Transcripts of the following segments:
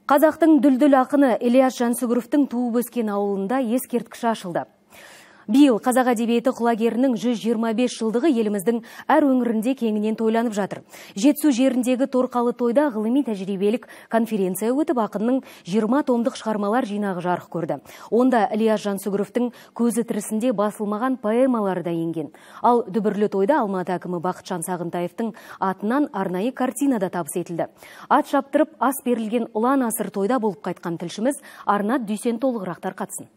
Қазақтың дүлдүл ақыны Ильяс Жансүгіровтің туып өскен ауылында ескерткіш ашылды. Биыл қазақ әдебиеті құлагерінің 125 жылдығы еліміздің әр өңірінде кеңінен тойланып жатыр. Жетісу жеріндегі Торқалы тойда ғылыми тәжірибелік конференция өтіп, ақынның 20 томдық шығармалар жинағы жарық көрді. Онда Ильяс Жансүгіровтің көзі тірісінде басылмаған поэмалары да енген. Ал дүбірлі тойда Алматы әкімі Бақытжан Сағынтаевтың атынан арнайы картина да табыс етілді. Ат шаптырып, ас берілген ұлан асыр тойда болып қайтқан тілшіміз Арнат Дүйсен толығырақтар қатсын.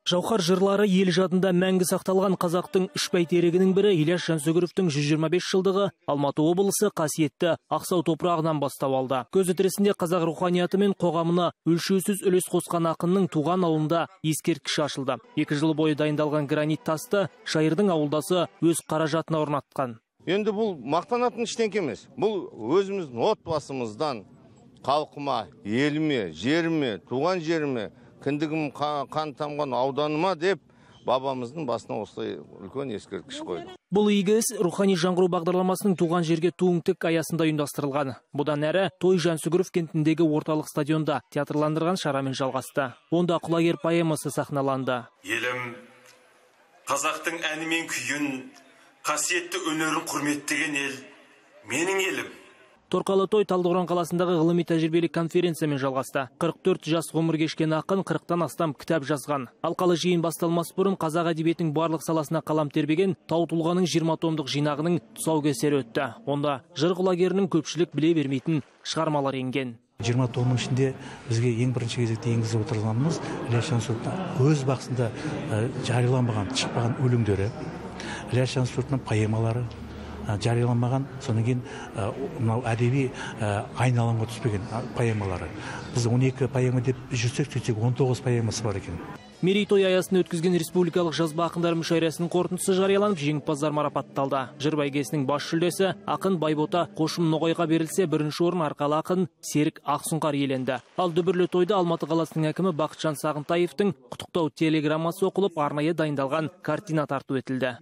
Жауһар жырлары ел жадында мәңгі сақталған қазақтың үш бәйтерегінің бірі Ильяс Жансүгіровтің 125 жылдығы Алматы облысы қасиетті Ақсау топырағынан бастау алды. Көзі тірісінде қазақ руханияты мен қоғамына өлшеусіз үлес қосқан ақынның туған ауылында ескерткіш ашылды. 2 жыл бойы дайындалған гранит тасты шайырдың ауылдасы өз қаражатына орнатқан. Енді бұл мақтанатын ештеңе емес. Бұл өзіміздің отбасымыздан халқыма, еліме, жеріме, туған жеріме, кіндігім қан тамған ауданыма деп бабамыздың басына осылай үлкен ескерткіш қойды. Бұл игі іс рухани жаңғыру бағдарламасының туған жерге туың тік аясында ұйымдастырылған. Бұдан әрі той Жансүгіров кентіндегі орталық стадионда театрландырған шарамен жалғасты. Онда құлагер поэмасы сахналанды. Елім, қазақтың әні мен күйін, қасиетті өнерін құрметтеген ел, менің елім. Торқалы той Талдықорған қаласындағы ғылыми тәжірибелік конференциямен жалғасты. 44 жас ғұмыр кешкен ақын 40-тан астам кітап жазған. Алқалы жиын басталмас бұрын қазақ әдебиетінің барлық саласына қалам тербеген Тау тұлғаның 20 томдық жинағының тұсаукесері өтті. Онда жыр құлагерінің көпшілік біле бермейтін шығармалар енген. 20 томның ішінде бізге ең бірінші кезекте енгізіп отырғанымыз Ильяс Жансүгіровтың өз бақсында жарияланбаған, шықпаған өлеңдері, Ильяс Жансүгіровтың поэмалары жарияланмаған, содан кейін мынау әдеби айналымға түспеген поэмалары. Біз 12 поэма деп жүрсек, 19 поэмасы бар екен. Мерейтой аясында өткізген республикалық жазба ақындар мүшәйрасының қорытындысы жарияланып, жеңімпаздар марапатталды. Жыр бәйгесінің бас жүлдесі ақын Байбота Қошым Ноғайға берілсе, бірінші орын арқалы ақын Серік Ақсұңқар иеленді. Ал дүбірлі тойда Алматы қаласының әкімі Бақытжан Сағынтаевтың құттықтау телеграммасы оқылып, арнайы дайындалған картина тарту етілді.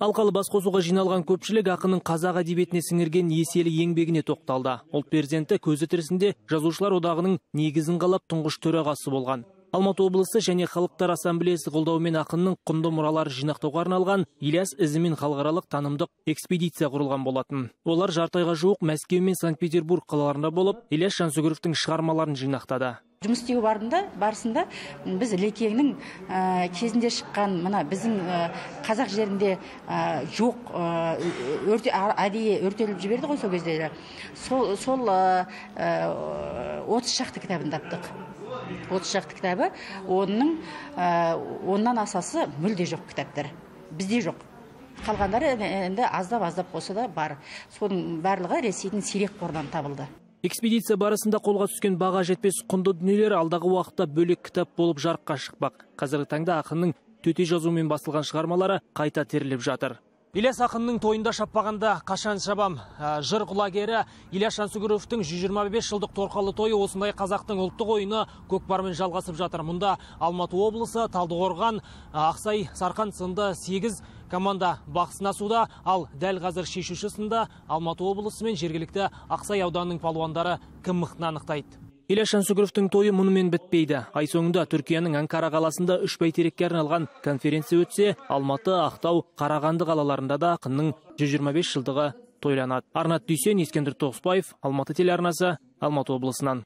Алқалы басқосуға жиналған көпшілік ақынның қазақ әдебиетіне сіңірген еселі еңбегіне тоқталды. Ұлт перзенті көзі тірісінде жазушылар одағының негізін қалап тұңғыш төрағасы болған. Алматы облысы және халықтар ассамблеясы қолдауымен ақынның құнды мұралары жинақтауға арналған Ильяс ізімен халықаралық танымдық экспедиция құрылған болатын. Олар жарты айға жуық Мәскеу мен Санкт-Петербург қалаларында болып, Ильяс Жансүгіровтің шығармаларын жинақтады. Жұмыс істеу барысында біз Лекеңнің кезінде шыққан, мына біздің қазақ жерінде жоқ әдейі өртеліп жіберді ғой сол кездері. Сол 30 шақты кітабын таптық. 30 шақты кітабы, оннан асасы мүлде жоқ кітаптар. Бізде жоқ. Қалғандары енді аздап болса да бар. Соның барлығы Ресейдің сирек қорынан табылды. Экспедиция барысында қолға түскен баға жетпес құнды дүниелер алдағы уақытта бөлек кітап болып жарыққа шықпақ. Қазіргі таңда ақынның төте жазумен басылған шығармалары қайта теріліп жатыр. Ильяс ақынның тойында шаппағанда қашан шабам? Жыр құлагері Ильяс Жансүгіровтің 125 жылдық Торқалы тойы осындай қазақтың ұлттық ойыны көкпармен жалғасып жатыр. Мұнда Алматы облысы, Талдықорған, Ақсай, Сарқан сынды 8 команда бақ сынасуда, ал дәл қазір шешуші сында Алматы облысы мен жергілікті Ақсай ауданының палуандары кім мықтыны анықтайды. Ильяс Жансүгіровтің тойы мұнымен бітпейді. Ай соңында Түркияның Анкара қаласында 3 бәйтерекке арналған конференция өтсе, Алматы, Ақтау, Қарағанды қалаларында да ақынның 125 жылдығы тойланады. Арнат Дүйсен, Ескендір Тоғысбаев, Алматы телеарнасы, Алматы облысынан.